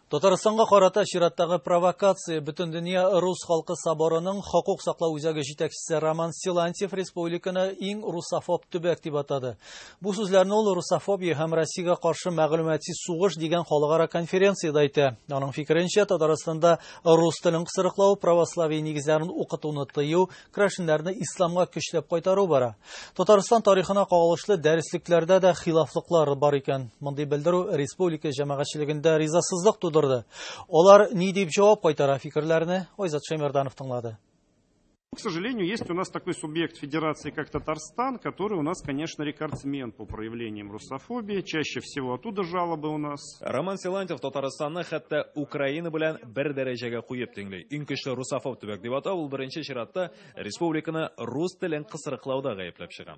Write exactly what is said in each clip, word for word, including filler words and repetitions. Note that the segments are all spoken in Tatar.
Татарстанга карата чираттагы провокация. Бөтендөнья рус халкы соборының хокук саклау үзәге җитәкчесе Роман Силантьев республиканы иң русофоб төбәк дип атады. Бу сүзләрне ул «Русофобия һәм Россиягә каршы мәгълүмати сугыш» дигән халыкара конференциядә әйтә. Аның фикеренчә, Татарстанда рус телен кысрыклау, православие нигезләрен укытуны тыю, керәшеннәрне исламга көчләп кайтару бара. Татарстан тарихына кагылышлы дәреслекләрдә дә хилафлыклар бар икән. Мондый белдерү республика җәмәгатьчелегендә ризасызлык тудырды. Алар ни дип җавап кайтара, фикерләрне Айзат Шәймәрданов тыңлады. К сожалению, есть у нас такой субъект федерации, как Татарстан, который у нас, конечно, рекордсмен по проявлениям русофобии. Чаще всего оттуда жалобы у нас. Роман Силантьев Татарстанны хәтта Украина белән бер дәрәҗәгә куеп тиңли. Иң көчле русофоб төбәк дип атау ул беренче чиратта республиканы рус телен кысрыклауда гаепләп чыга.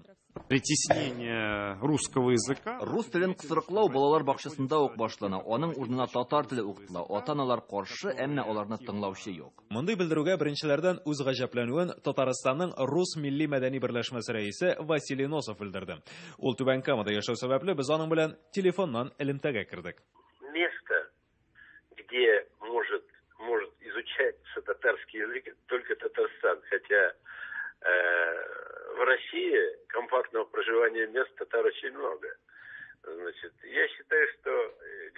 Притеснение русского языка. Рус телен кысрыклау балалар бакчасында ук башлана. Аның урынына татар теле укытыла. Ата-аналар каршы, әмма аларны тыңлаучы юк. Мондый белдерүгә беренчеләрдән үз гаҗәпләнүен Татарстанның Рус милли мәдәни берләшмәсе рәисе Василий Носов белдерде. Ул Түбән Камада яшәү сәбәпле без аның белән телефоннан элемтәгә кердек. Место, где может, может изучаться татарский язык, только Татарстан. Хотя э, в России компактного проживания мест татар очень много. Значит, я считаю, что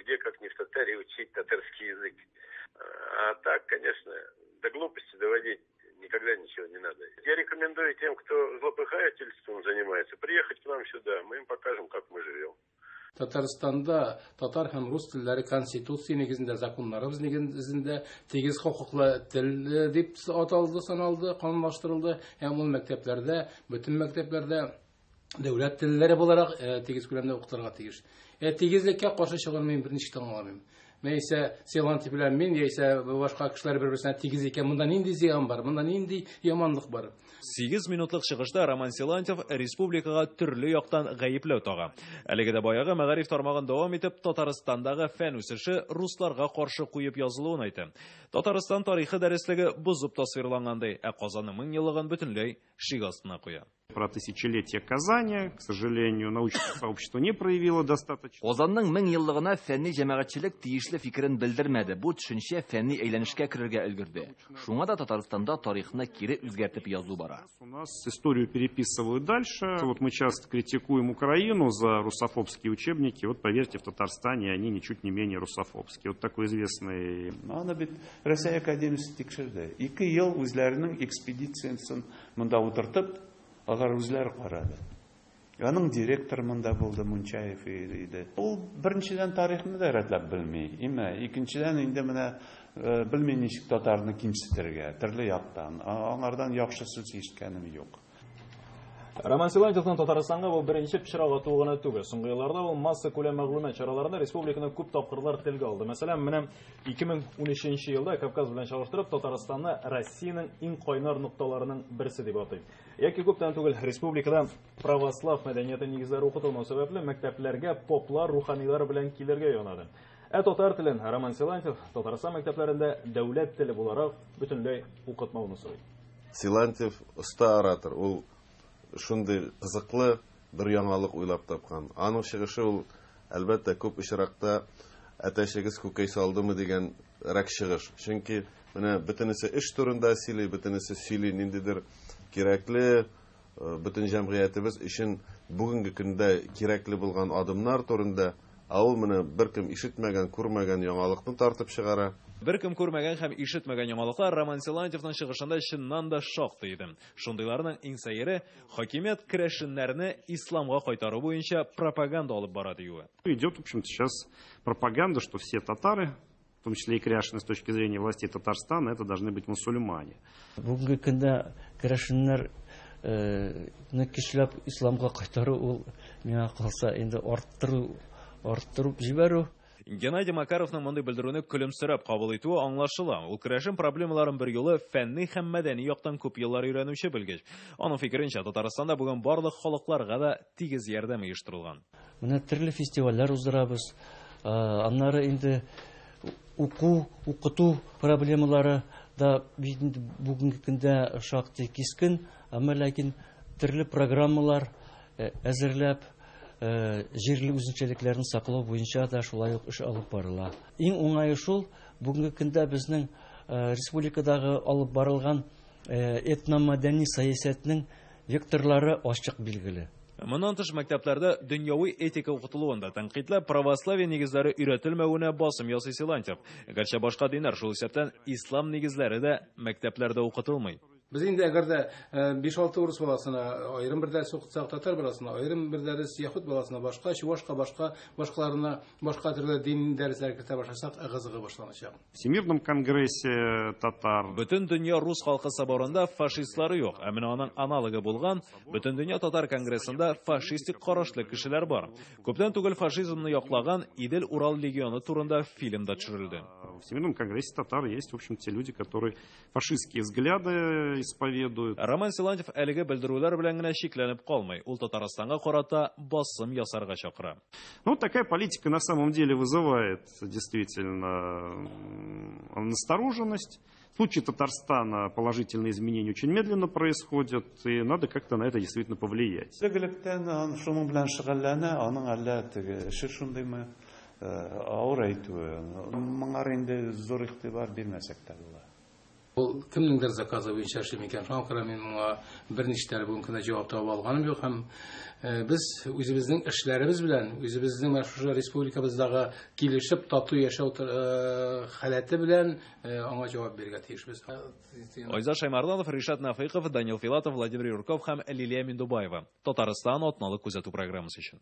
где как не в Татарии учить татарский язык. А так, конечно, до глупости доводить никогда ничего не надо. Я рекомендую тем, кто злопыхательством занимается, приехать к нам сюда. Мы им покажем, как мы живем. Татарстанда татар һәм рус телләре конституция нигезендә, законнарыбыз нигезендә тигез хокуклы тел дип аталды, саналды, канунлаштырылды һәм ул мәктәпләрдә, бөтен мәктәпләрдә дәүләт телләре буларак тигез күләмдә укытылырга тиеш. Ә тигезлеккә каршы чыгуны мин берничек тә аңламыйм. Яисә Силантьев белән мин, яисә башка кешеләр бер-берсенә тигез икән, монда нинди зыян бар, монда нинди яманлык бар? Сигез минутлык чыгышта Роман Силантьев республикага төрле яктан гаепләү тага. Әлеге дә баягы мәгариф тармагын дәвам итеп, Татарстандагы фән үсеше русларга каршы куеп язылуын әйтә. Татарстан тарихы дәреслеге бозып тасвирланган ди, ә Казанның мең еллыгын бөтенләй шик астына куя. Про тысячелетие Казани, к сожалению, научное сообщество не проявило достаточно. Казанның мең еллыгына фәнни җәмәгатьчелек тиешле фикерен белдермәде. Бу төшенчә фәнни әйләнешкә керергә өлгерде. Шуңа да Татарстанда тарихны кире үзгәртеп язу бара. У нас историю переписывают дальше. Вот мы часто критикуем Украину за русофобские учебники. Вот поверьте, в Татарстане они ничуть не менее русофобские. Вот такой известный... Аны бит Россия академиясе тикшерде. Ике ел үзләренең экспедициясен монда утыртып, алар үзләре карады. Аның директоры монда булды, Мунчаев иде. Ул беренчедән тарихны да рәтләп белми, име? Икенчедән инде менә белми ничек татарны кимсетергә, төрле яктан. Аңардан яхшы сүз ишеткәнем юк. Роман Силантьевның Татарстанга бу беренче пычрак атуы гына түгел. Соңгы елларда ул масса күләм мәгълүмат чараларында республиканы күп тапкырлар телгә алды. Мәсәлән, менә ике мең унөченче елда Кавказ белән чагыштырып Татарстанны Россиянең иң кайнар нокталарының берсе дип атый. Яки күптән түгел республикада православ мәдәнияте нигезләре укытылмау сәбәпле мәктәпләргә поплар, руханилар белән килергә янады. Ә татар телен Роман Силантьев Татарстан мәктәпләрендә дәүләт теле буларак бөтенләй укытмауны сорый. Силантьев оста оратор, ул шундый кызыклы бер яңалык уйлап тапкан. Аның чыгышы ул, әлбәттә, күп очракта әтәчегез күкәй салдымы дигән рәк чыгыш. Чөнки менә бөтенесе эш турында сөйли, бөтенесе сөйли ниндидер кирәкле, бөтен җәмгыятебез өчен бүгенге көндә кирәкле булган адымнар турында, ә ул менә беркем ишетмәгән, күрмәгән яңалыкны тартып чыгара. Беркем күрмәгән һәм ишетмәгән яңалыклар Роман Силантьевның чыгышында чыннан да шактый иде. Шундыйларның иң сәере хакимият керәшеннәрне исламга кайтару буенча пропаганда алып бара диюе. Идет, в общем-то, сейчас пропаганда, что все татары, в том числе и кряшены с точки зрения властей Татарстана, это должны быть мусульмане. Бүгенге көндә керәшеннәр көчләп исламга кайтару ул миңа калса инде арттыру, арттырып җибәрү. Геннадий Макаровның мондый белдерүне көлемсерәп кабул итүе аңлашыла. Ул керәшен проблемаларын бер юлы фәнни һәм мәдәни яктан күп еллар өйрәнүче белгеч. Аның фикеренчә, Татарстанда бүген барлык халыкларга да тигез ярдәм оештырылган. Менә төрле фестивальләр уздырабыз. Аннары инде уку, укыту проблемалары да бүгенге көндә шактый кискен, әмма ләкин төрле программалар әзерләп, җирле үзенчәлекләрен саклау буенча да шулай ук эш алып барыла. Иң уңае шул, бүгенге көндә безнең республикадагы алып барылган этномәдәни сәясәтнең векторлары ачык билгеле. Моннан тыш мәктәпләрдә дөньяви этика укытылуын да тәнкыйтьләп, православие нигезләре өйрәтелмәвенә басым ясый Силантьев. Гәрчә башка диннәр, шул исәптән ислам нигезләре дә мәктәпләрдә укытылмый. Без инде әгәр дә биш-алты урыс баласына аерым бер дәрес укытсак, татар баласына аерым бер дәрес, яһүд баласына башка, чувашка башка, башкаларына башка төрле дин дәресләре кертә башласак, ыгы-зыгы башланачак. Всемирном конгрессе татар. Бөтен дөнья рус халкы соборында фашистлары юк, ә менә аның аналогы булган Бөтен дөнья татар конгрессында фашистик карашлы кешеләр бар. Күптән түгел фашизмны яклаган Идел-Урал легионы турында фильм да төшерелде. В Всемирном конгрессе татар есть, в общем, те люди, которые фашистские взгляды исповедуют. Роман Силантьев әлеге белдерүләр белән генә шикләнеп калмый. Ул Татарстанга карата басым ясарга чакыра. Ну, такая политика на самом деле вызывает действительно настороженность. В случае Татарстана положительные изменения очень медленно происходят, и надо как-то на это действительно повлиять. Элек-электән шуның белән шөгыльләнә, аның әллә теге эше шундыймы, авыр әйтүе. Моңар инде зур игътибар бирмәсәк тә була. Ул кемнеңдер заказы буенча эшли микән? Шуңа күрә мин моңа берничә бүгенге көндә җавап таба алганым юк һәм без үзебезнең эшләребез белән, үзебезнең менә шушы республикабыздагы килешеп тату яшәү халәте белән аңа җавап бирергә тиешбез. Айзат Шаймарданов, Ришат Нафыйков, Данил Филатов, Владимир Юрков һәм Лилия Миндубаева. Татарстан атналык күзәтү программасы өчен.